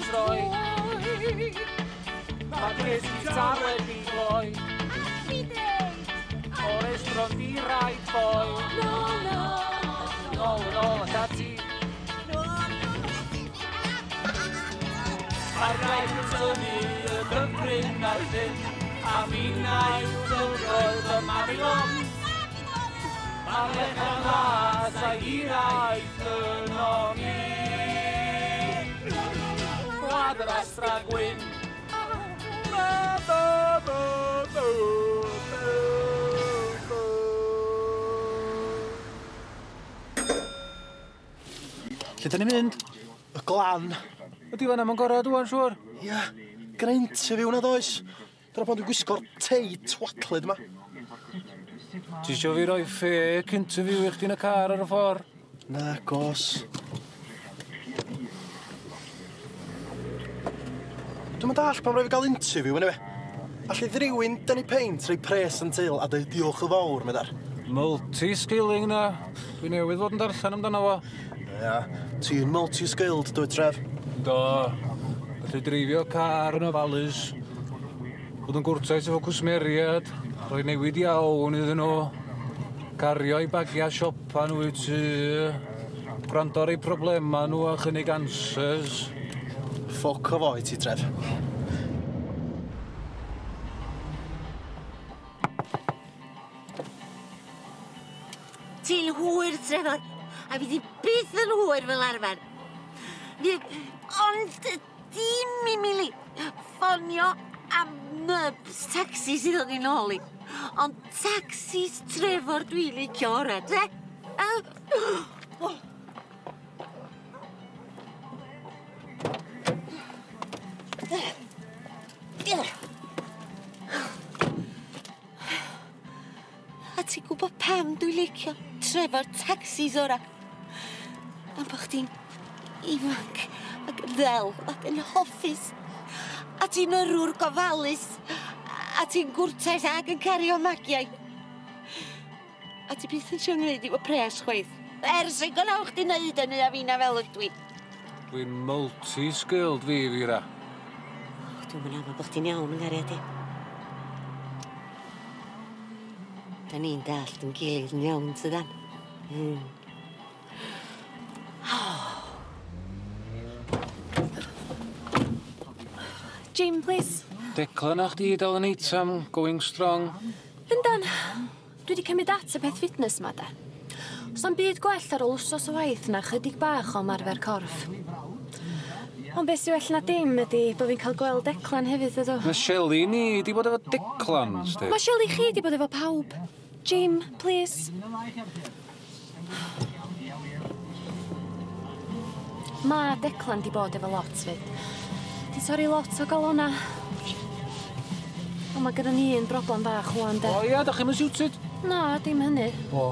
troi. Mae Chris Guitar wedi gloi. O restaurant i right boy. Nôl yn ôl ac ati. Mae'r graig yn tynnu y dyffryn a'r llyn, a finnau yw dyfroedd y Mabilon. Mae'r lechan las a'i hiraeth yno ni. Gwlad yr Astra Gwyn. Ba, ba, ba, ba, ba, ba. Lle da ni'n mynd? Y Glan. Ydy fan am yn gorau wan, siŵr? Ia, gyda interview na does. Dyna pan dwi'n gwisgo'r tei twatlyd yma. Ti isio fi roi fake interview i chdi yn y car ar y ffordd? Na, gos. Dwi'm yn dallt pam rhaid fi gael interview, anyway. Alli rywun dynnu peint, rhoi pres yn til a dweud diolch yn fawr, meddar. Multi-skilling na. Dwi newydd fod yn darllen amdano fo. Ia, ti'n multi-skilled, dwyt, Tref? Do. Gallu dreifio car yn ofalus. Bod yn gwrtais efo cwsmeriad. Rhoi newid iawn iddyn nhw. Cario eu bagiau siopa nhw i tŷ. Gwrando ar eu problema nhw a chynnig answers. Ffwc o foi ti, Tref. Ti'n hwyr, Trevor, a fi di byth yn hwyr fel arfer. Fi, ond dim i mi ffonio am nybs taxi sydd o'n i'n ôl i. Ond taxis Trevor dwi'n licio ora, de? Oh. A ti'n gwybod pam dwi'n licio Trevor taxis ora? Am bo' chdi'n ifanc ac yn ddel ac yn hoffus. A ti'n yrrwr gofalus. A ti'n gwrtais ac yn cario magiau. A ti byth yn trio ngwneud i fo pres chwaith. Ers i gynnal chdi wneud hynny a finna fel ydw i. Dwi'n multi-skilled fi, Fira. Dwi'm yn aml bod chdi'n iawn yng nghariad i. Da ni'n dallt yn gilydd yn iawn, tydan? Jim, please. Declan a chdi dal yn eitam, going strong. Yndan, dwi wedi cymryd at y peth fitness ma, da. Os am byd gwell ar ôl wsos o waith na chydig bach o ymarfer corff. Ond beth sy'n well na dim ydi bod fi'n cael gweld Declan hefyd, ydw. Mae Shelley ni di bod efo Declan, sti. Mae Shelley chi di bod efo pawb. Jim, please. Mae Declan di bod efo lot fyd. Di torri lot o galona. Ond mae gyda ni un broblem bach ŵan, de. O ia, da chi'm yn suited? Na, dim hynny. O.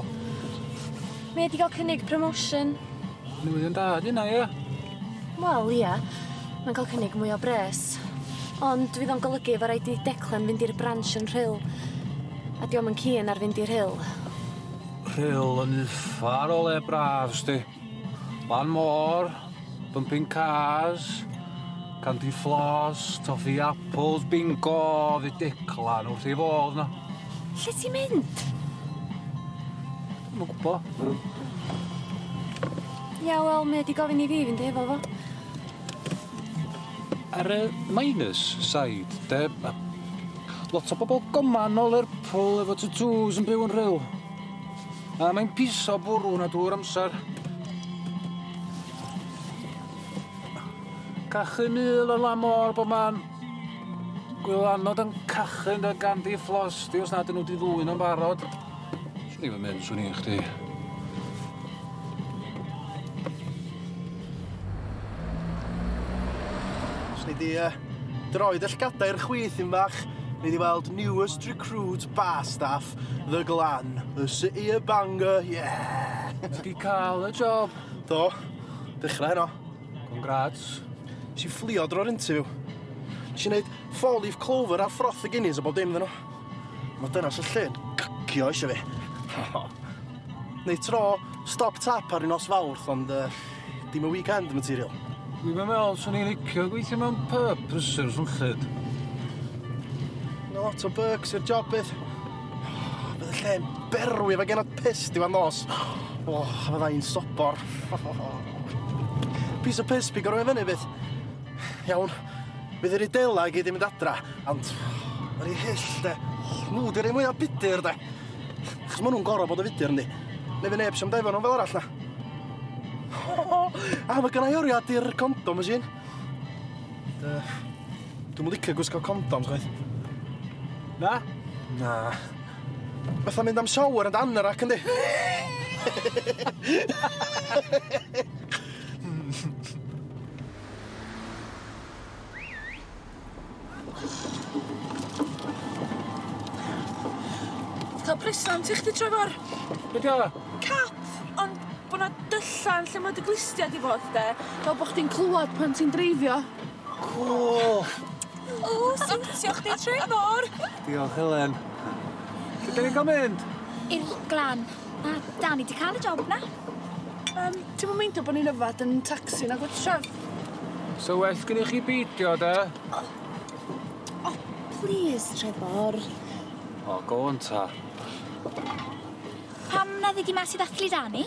Mae wedi cael cynnig promotion. Newyddion da, di hynna, ia? Wel, ia. Mae'n cael cynnig mwy o bres. Ond fydd o'n golygu fo raid i Declan fynd i'r branch yn Rhyl. A dio'm yn keen ar fynd i'r Rhyl. Rhyl yn uffar o le braf, sti. Lan môr, bumping cars, candy floss, toffee apples, bingo, fydd Declan wrth ei fodd na. Lle ti'n mynd? Dwi'm yn gwbo. Ia, wel, mae wedi gofyn i fi fynd efo fo. Ar y minus side, de, ma' lot o bobl goman o Lerpwl efo tattoos yn byw yn Rhyl. A mae'n piso bwrw na drwy'r amser. Cachu mul o'r lan môr bob man. Gwylanod yn cachu yn dy ganddi fflos di os nad ydyn nhw wedi ddwyn o'n barod. Swn i'm yn mynd, swn i chdi. Swn i di droi dy llgadau i'r chwith un fach. Nei di weld newest recruit bar staff, The Glan, the city of Bangor, yeah! Ti di cael y job? Do, dechrau heno. Congrats. Nes i fflio dro'r interview. Nes i wneud four leaf clover a froth y Guinness a bob dim iddyn nhw. Mae dynas y lle'n gycio eisiau fi. Neu tro stop tap ar un nos Fawrth, ond dim y weekend material. Dwi'm yn meddwl swn i'n licio gweithio mewn pub prysur swnllyd. Yna lot o perks i'r job bydd. Bydd y lle'n berwi efo genod piss diwedd nos. O, a fydda i'n sobor. Piece of piss bigo rhywun fyny bydd. Iawn, fydd yr idela i gyd i mynd adra, ond yr i hyll de. Nhw di'r un mwyaf budur de. Achos maen nhw'n gorfod bod yn fudur yndi. Neu fy neb sy'n defo nhw fel arall na. A mae gynna i oriad i'r condom machine. Dwi'm yn licio gwisgo condoms chwaith. Na? Na. Fatha mynd am shower and anorak yndi? Cael presant i chdi, Trefor. Be di o? Cap, ond bo' 'na dylla yn lle ma' dy glustia di fod de, fel bo' chdi'n clywad pan ti'n dreifio. Cŵl! O, siwtio chdi, Trefor! Diolch, Helen. Lle 'dan ni'n ga'l mynd? I'r Glan. Ma' Dani 'di cael y job 'na. Ti'm yn meindio bo' ni'n yfad yn tacsi nagwt, Tref? So well gennych chi beidio, de? O, plîs, Trefor. O, go on ta. Pam na ddei di mas i ddathlu Dani?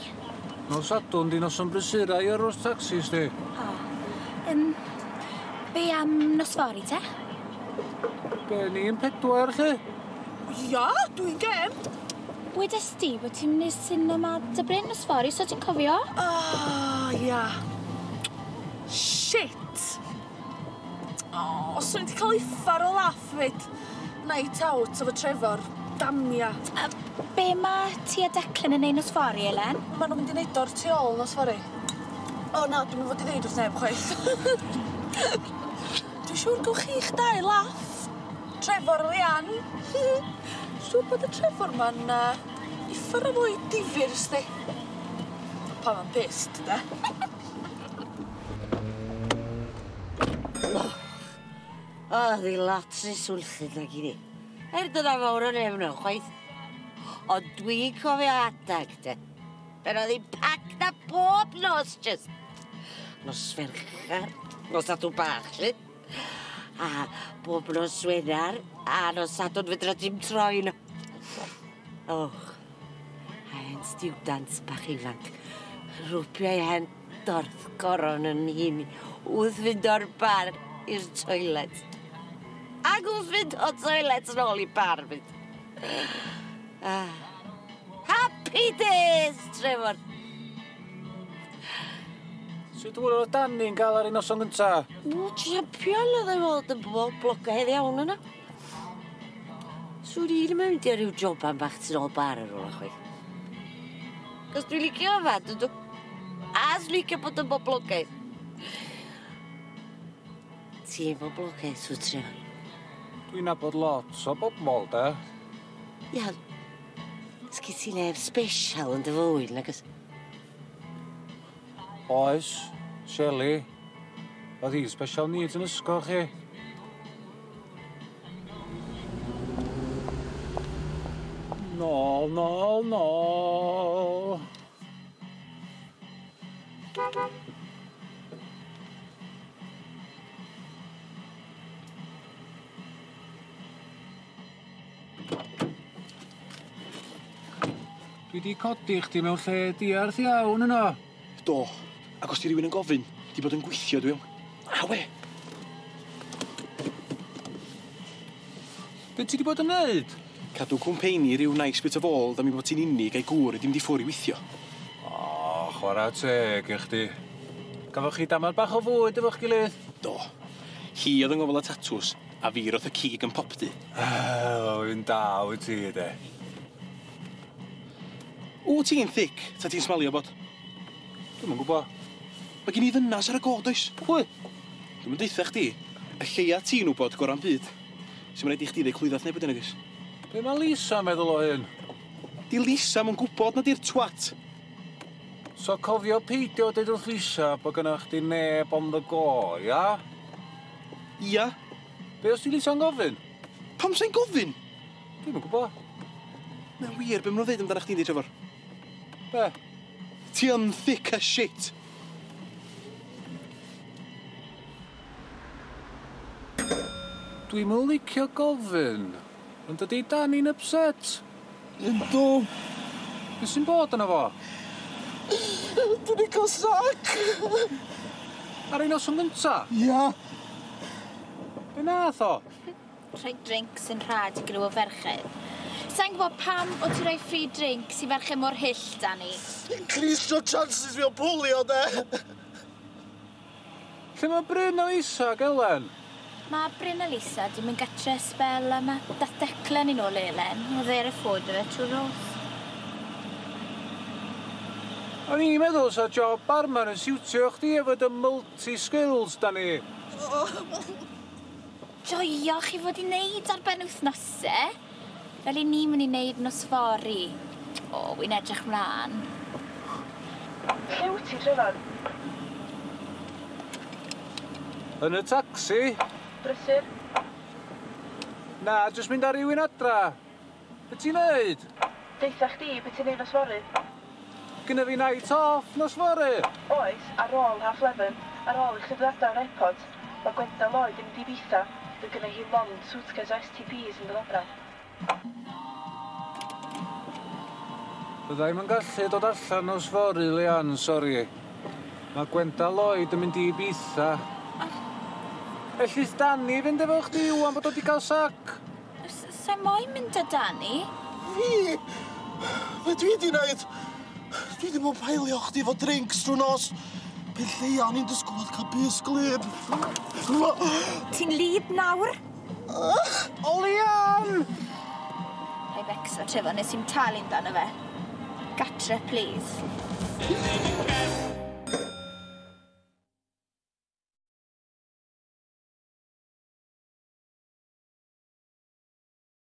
Nos Sadwrn di noson brysura i yrrwr tacsis di. O. Be am nos fory te? Be, ni'n pedwar, lle? Ia, dwi'n gêm. Wedes di bod ti'n mynd i'r cinema dy Bryn nos fory, so ti'n cofio? O, ia. Shit! O, swn i 'di cael uffar o laff fyd. Night out efo Trefor. Damia. A be ma' ti a Declan yn neud nos fory, Elen? Ma' nhw'n mynd i neud o'r tu ôl nos fory. O na, dwi'm yn fod i ddeud wrth neb chwaith. Dwi'n siŵr gewch chi'ch dau laff. Trefor Leanne. Siŵr bod y Trefor ma'n uffar o fwy difyr, sdi. Pan ma'n pissed, de. O, ddi lot sy'n swnllyd nag i ni. Er dyna fawr o neb nhw, chwaith. Ond dwi'n cofio adag, de. Pan oedd hi'n packed na bob nos, just. Nos Fercher, nos Sadwrn bach, lle. A bob nos Wener, a nos Sadwrn fedra dim troi nhw. Och, a hen stiwdant bach ifanc. Rwbio ei hen dorth goron yn hun wrth fynd o'r bar i'r toilet. Ac wrth fynd o'r toilet yn ôl i bar fyd. Ah. Happy days, Trefor. Sut hwyl oedd Dani'n gael ar ei noson gynta? O, champion oedd ei fod yn boblogaidd iawn yna. Swn i ddim yn mynd i ar ryw joban bach tu ôl bar ar ôl chwaith. Cos dwi'n licio yfad, ydw. A swn licio bod yn boblogaidd. Ti'n boblogaidd, sw Trefor? Dwi'n nabod lot o bobl, de. Ia, sgyn ti neb special yn dy fywyd, nag oes? Oes, Shelley. Oedd hi special needs yn ysgol, chi. Nôl, nôl, nôl. Dwi di codi chdi mewn lle diarth iawn yno. Do, ac os di rywun yn gofyn, di bod yn gweithio dwi iawn. A we! Be ti di bod yn neud? Cadw cwmpeini ryw nice bit of old am i bod ti'n unig a'i gŵr i ddim di ffwr i weithio. O, chwarae teg i chdi. Gafoch chi damad bach o fwyd efo'ch gilydd? Do. Hi oedd yng ngofal y tatws, a fi roth y cig yn popty. O, un da wyt ti, de. O, ti'n thick, ta ti'n smalio bod? Dwi'm yn gwybod. Mae gen i ddynas ar y god, oes? Pwy? Dwi'm yn deutha chdi. Y lleia ti'n wybod gora'n byd. Sy'n rhaid i chdi ddeud clwyddath neb wedyn, nag oes? Be mae Lisa yn meddwl o hyn? Di Lisa mo'n gwybod na di'r twat. So cofio peidio deud wrth Lisa bod gynna chdi neb on the go, ia? Ia. Be os di Lisa'n gofyn? Pam sa'n gofyn? Dwi'm yn gwybod. Mae'n wir, be maen nhw'n ddeud amdano chdi'n di, Trefor? Be? Ti yn thick as shit. Dwi'm yn licio gofyn, ond ydi Dani'n upset? Yndw. Be sy'n bod yna fo? Dwi 'di ca'l sac. Ar ei noson gynta? Ia. Be nath o? Rhoi drinks yn rhad i griw o ferched. Sai'n gwybod pam o ti rhoi free drinks i ferched mor hyll, Dani. Increasio chances fi o bwlio, de. Lle mae Bryn a Lisa ag Elen? Mae Bryn a Lisa di mynd gatre sbel a mae dath Declan i nôl Elen. Oedd e ar y ffôn 'da fe trwy'r nos. O'n i'n meddwl sa job barman yn siwtio chdi efo dy multi-skills, Dani. Joio chi fod i wneud ar ben wythnosau. Fel i ni mynd i wneud nos fory. O, wi'n edrych mlaen. Lle wyt ti, Trefor? Yn y tacsi. Brysur? Na, jyst mynd ar rywun adra. Be ti'n neud? Deutha chdi, be ti'n neud nos fory? Gynna fi night off nos fory. Oes, ar ôl 11:30, ar ôl i chdi ddod adra o'r airport, mae Gwenda Lloyd yn mynd i Ibiza. Fydd gynna hi lond suitcase o STDs yn dod adra. Fydda i'm yn gallu dod allan nos fory, Leanne, sori. Mae Gwenda Lloyd yn mynd i Ibiza. Ellith Dani fynd efo chdi ŵan bod o 'di cael sac? Sa i moyn mynd â Dani. Fi? Be dwi 'di neud? Dwi ddim yn peilio chdi efo drinks drwy nos. Pe lleia o'n i'n disgwyl oedd cael bys glyb. Ti'n lib nawr? O, Leanne! Rhaid becso, Trefor, nes i'm talu amdano fe. Gatre, please.